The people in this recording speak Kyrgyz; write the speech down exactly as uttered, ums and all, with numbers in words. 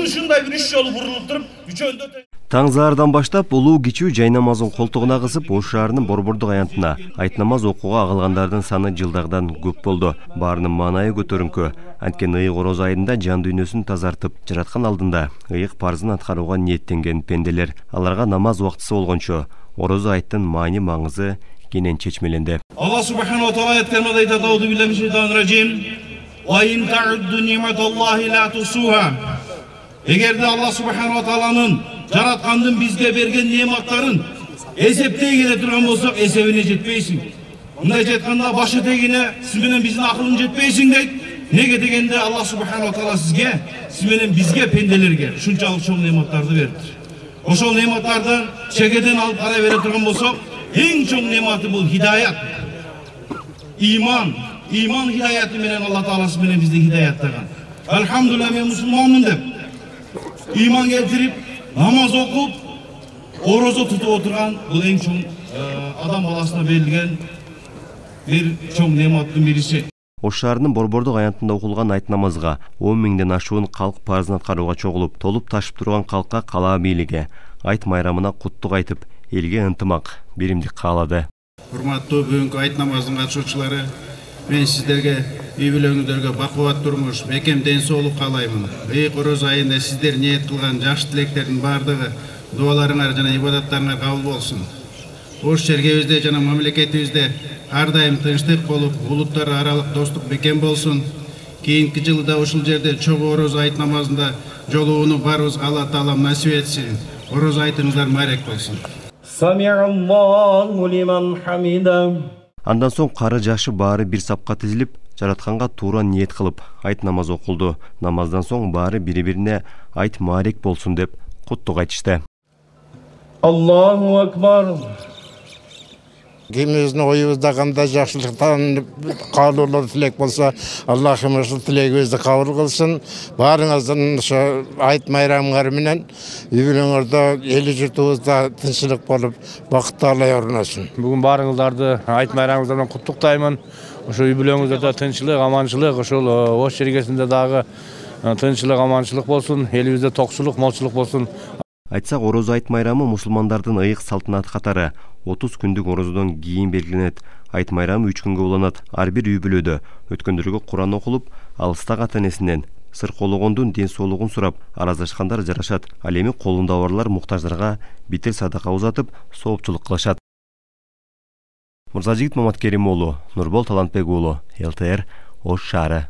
ушундай бир үч жолу бурулуп туруп үчөөндө Таң заардан баштап улуу кичүү жай намазын колтугуна кысып, Ош шаарынын Борбордук аянтына айт намаз окууга агылгандардын саны жылдагыдан көп болду. Баарынын маанайы көтөрүңкү. Анткени ыйык ороз айында жан дүйнөсүн тазартып, жараткан алдында ыйык парзын аткарууга ниеттенген пенделер. Аларга намаз убактысы болгончо ороз айттын маани маңызы кенен чечмеленди. Алла субханаху ва таала айткандай айтат: "Ауду биллахи минаш шайтанир ражим. Ва ин та'удду ни'маталлахи ла тусуха." Эгерде Алла субханаху ва тааланын жараткандын бизге берген неаматтарын эсептей келе турган болсок, эсебине жетпейсиң. Мындайча айтканда, башы тегине сиз менен биздин акылың жетпейсиң дейт. Неге дегенде Алла субханаху ва таала сизге, сиз менен бизге, пенделерге ушунчалык чоң неаматтарды берди. Ошол неаматтарды чегеден алып карай бере турган болсок, эң чоң неаматы бул хидаят. Иман, иман хидаяты менен Алла таала сиз менен бизди хидаяттаган. Алхамдулилlah, мен мусулманмын деп иман келтирип, намаз окуп, орозо тутуп отурган бул эң чоң адам баласына берилген бир чоң неаматтын бириси. Ош шаарынын Борбордук аянтында окулган айт намазга он миңден ашуун калк парзын аткарууга чогулуп, толуп ташып турган калкка кала бийлиги айт майрамына куттук айтып, элге ынтымак, биримдик каалады. Урматтуу бүгүнкү айт намазынын катышуучулары, мен сиздерге үй бүлөңүздөргө бакубат турмуш, бекем ден соолук каалаймын. Ыйык ороз айында сиздер ниет кылган жакшы тилектердин баардыгы дуаларыңар жана ибадаттарыңар кабыл болсун. Ош шергебизде жана мамлекетибизде ар дайым тынчтык болуп, улуттар аралык достук бекем болсун. Кийинки жылы да ушул жерде чогуу ороз айт намазында жолугууну барыбызга Алла таалам насип этсин. Ороз айтыңыздар майрек болсун. Сами'аллаху лиман хамида. Андан соң кары жашы баары бир сапка тизилип, жаратканга туура ниет кылып, айт намаз окулду. Намаздан соң баары бири-бирине айт маарек болсун деп куттук айтышты. Аллаху акбар. Кимибиздин оюбузда кандай жакшылыктан каалоолор тилек болсо, Аллахым ушул тилегибизди кабыл кылсын. Баарыңыздын ошо айт майрамыңар менен үй бүлөңөрдө, эл журтубузда тынччылык болуп, бакыттуулай орношун. Бүгүн баарыңыздарды айт майрамыңыздар менен куттуктаймын. Ошо үй бүлөңүздө тынччылык, аманчылык, ошол Ош шергесинде дагы тынччылык, аманчылык болсун, элибизде токчулук, молчулук болсун. Айтсак, ороз айт майрамы мусулмандардын ыйык салтанаты катары отуз күндүк орозодон кийин белгиленет. Айт майрамы үч күнгө уланат. Ар бир үй бүлөдө өткөндөргө Куран окулуп, алыстагы ата-энесинен сыр кологондун ден соолугун сурап, араздашкандар жарашат. Ал эми колунда барлар муктаждарга битер садака узатып, соопчулук кылышат. Мырзажигит Маматкерим уулу, Нурбол Талантбек уулу, эл тэ эр, Ош шаары.